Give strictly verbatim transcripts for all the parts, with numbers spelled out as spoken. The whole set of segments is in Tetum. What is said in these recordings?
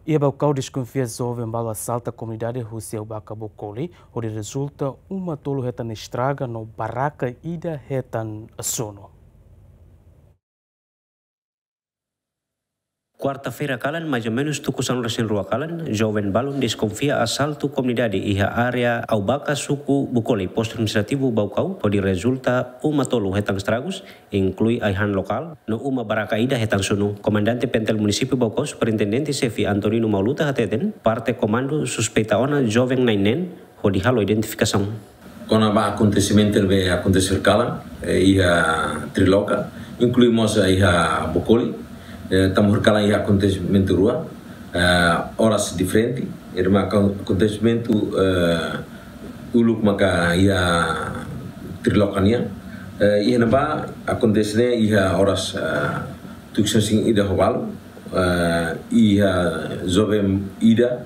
Iha Baucau deskonfia joven balu asalta komunidade husi Aubaka Bokoli, hodi rezulta uma tolu hetan estraga no baraka ida hetan sunu. Kuarta-feira kalan, mais ou menus tuku sanulu-resin-rua kalan, joven balun deskonfia asaltu komunidade iha área Aubaka, suku Bokoli, postu administrativu Baucau, hodi rezulta uma tolu hetan estragus, inklui ai-han lokál, no uma baraka ida hetan sunu. Komandante PNTL Munisípiu Baucau, Superintendente Xefe Antonino Mauluta hateten, parte komandu suspeita ona joven na'in neen, hodi halo identifikasaun. Kona-ba akontesimentu ne'ebé akontese kalan, eh, iha Triloka, inklui mós iha Bokoli, eh, tanba kalan iha akontesimentu rua, eh, oras diferente, ida maka akontesimentu, eh, uluk maka iha Triloka nian, eh, iha ne'ebá akontese ne'e iha oras, eh, tuku sanulu-resin-ida ho balu, eh, iha joven ida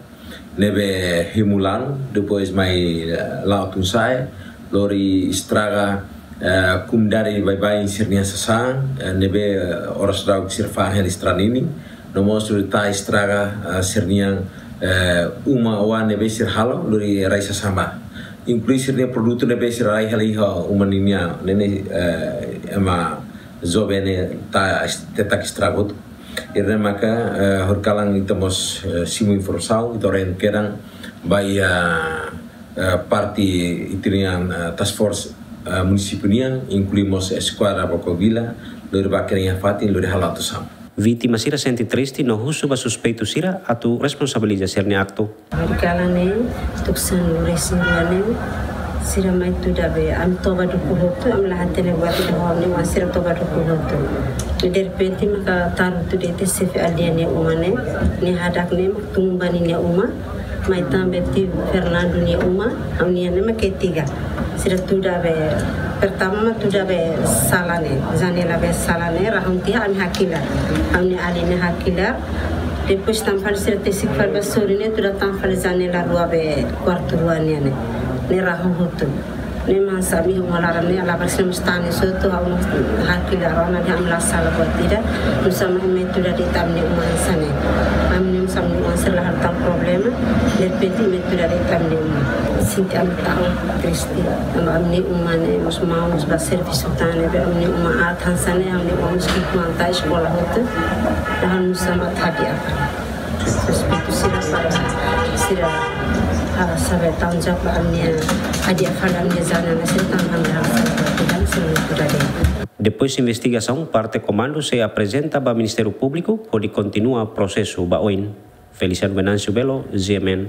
ne'ebé hemu lanu, depois mai, eh, la'o tun-sa'e, lori estraga, eh, komunidade baibain sira-nia sasán, eh, ne'ebé, eh, oras daudauk sira fa'an hela estrada ninin, no mós lori tau estraga, eh, sira-nia, eh, uma oan ne'ebé sira halo, lori rai sasán ba. Inklui sira-nia produtu ne'ebé sira rai hela iha uma ninian, ne'e ne'e, eh, ema joven ne'e tau es-, tau estraga hotu. Ida-ne'e maka, eh, horikalan ita mós, eh, simu informasaun, ita orienta kedan ba iha, eh, parte ita-nia, eh, task force, eh, munisípiu nian, inklui mós eskuadra Baucau Vila, lori ba kedan iha fatin, lori halo atuasaun. Vítima sira sente triste no husu ba suspeitu sira atu responsabiliza sira-nia aktu. Horikalan ne'e, tuku sanulu-resin-rua ne'e, sira mai tuda be, ami toba dukur hotu, ami la hatene buat ida ho ami-nia oan, sira toba dukur hotu. Derrepente maka taru tuda ita xefe aldeia nia uma ne'e, nia hadak ne'e mak tun ba ninia uma, mai tan be tiu Fernando nia uma, ami-nia ne'e mak ketiga. Sira tuda be, pertama mak tuda be sala ne'e, janela be sala ne'e, rahun tiha ami hakilar. Ami-nia alin ne'e hakilar, depois tan fali sira tesik fali ba sorin ne'e, tuda tan fali janela rua be kuartu rua nian ne'e. Ne'e rahun hotu. Ne'e mak hanesan ami uma laran ne'e, ala barsina mustani soto, ha'u mós hakilar ona dehan ami la sala buat ida. Nusá mak mai tuda de'it ami-nia uma hanesan ne'e. Ami-nia uma, ami-nia uma sira la halo tan problema. Derrepente mai tuda de'it ami-nia uma. Sente ami ta'uk, triste. Ami-nia uma ne'e, mós maun, mós ba servisu tan ne'e, be ami-nia uma aat hanesan ne'e, ami-nia uma mós ki'ik-oan tau eskola hotu. Dehan nusá mak hadi'a fali. Suspeitu sira para sira, ah, sabe, tau japa ami-nia hadi'a fali ami-nia janela sira tan ami-nia hadi'a fali, tidak sira tuda de'it. Depois investigasaun, parte komandu sei aprezenta ba Ministériu Públiku, hodi kontinua prosesu ba oin. Feliciano Venâncio Belo, G M N,